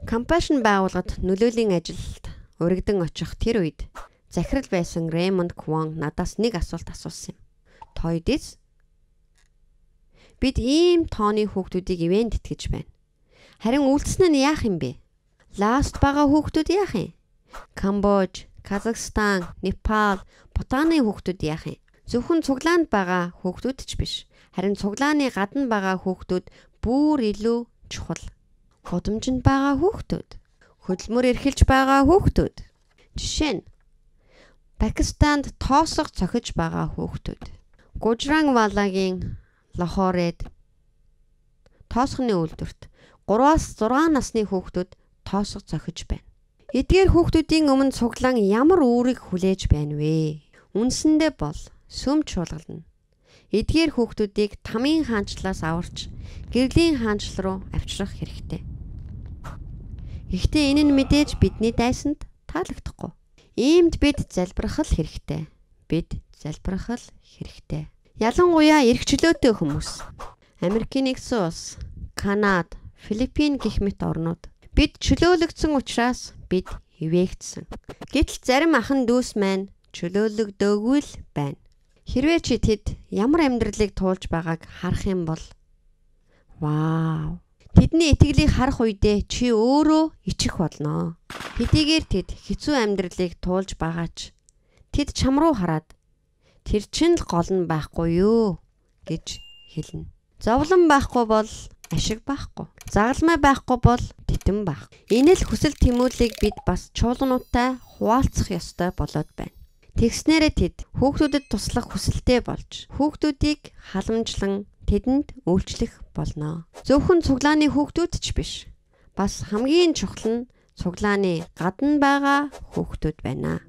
Compassion байгууллагад нөлөөлийн ажилд урагдсан очих тэр үед захирал байсан Рэймонд Квон надаас нэг асуулт асуусан юм. Тойдис бид ийм тооны хүүхдүүдийг ивент итгэж байна. Харин үлдсэн нь яах юм бэ? Ласт байгаа хүүхдүүд яах юм? Камбож, Казахстан, Непал, Бутаны хүүхдүүд яах юм? Зөвхөн цуглаанд байгаа хүүхдүүд ч биш. Харин цуглааны гадна байгаа хүүхдүүд бүр илүү чухал. Гудамжинд байгаа хүүхдүүд, хөдөлмөр эрхэлж байгаа хүүхдүүд. Жишээ нь Пакистанд тоосго цохиж байгаа хүүхдүүд. Гужрангвалагийн Лахоред тоосгоны үйлдвэрт 3-6 насны хүүхдүүд тоосго цохиж байна. Эдгээр хүүхдүүдийн өмнө цуглаан ямар үүрэг хүлээж байна вэ? Үндсэндээ бол сүм чуулгална. Эдгээр хүүхдүүдийг тамийн хаанчлалаас аварч гэрлийн хаанчлал руу авчрах хэрэгтэй. Гэхдээ энэ нь мэдээж бидний дайсанд таалагдахгүй. Иймд бид залбирах хэрэгтэй. Бид залбирах хэрэгтэй. Ялангуяа эрх чөлөөтэй хүмүүс. Америкийн нэгдсэн улс, Канада, Филиппин гэх мэт орнууд. Бид чөлөөлөгдсөн учраас бид ивээгдсэн. Гэтэл зарим ахан дүүс маань чөлөөлөгдөөгүй л байна. Хэрвээ чи тэд ямар амьдралыг туулж байгааг харах юм бол вау. Тэдний итгэлийг харах үедээ чи өөрөө ичих болно. Хэдийгээр тэд хэцүү амьдралыг туулж байгаач тэд чам руу хараад тэр чинь л гол нь байхгүй юу гэж хэлнэ. Зовлон байхгүй бол ашиг байхгүй. Загалмай байхгүй бол титэн байх. Энэ л хүсэл тэмүүллийг бид бас чуулгануудтай хуваалцах ёстой болоод байна. Тэгснээрээ тэд хүүхдүүдэд туслах хүсэлтэй болж хүүхдүүдийг халамжлан тэдэнд үйлчлэх болно. Зөвхөн цуглааны хүүхдүүд ч биш. Бас хамгийн чухал нь цуглааны гадна байгаа хүүхдүүд байна.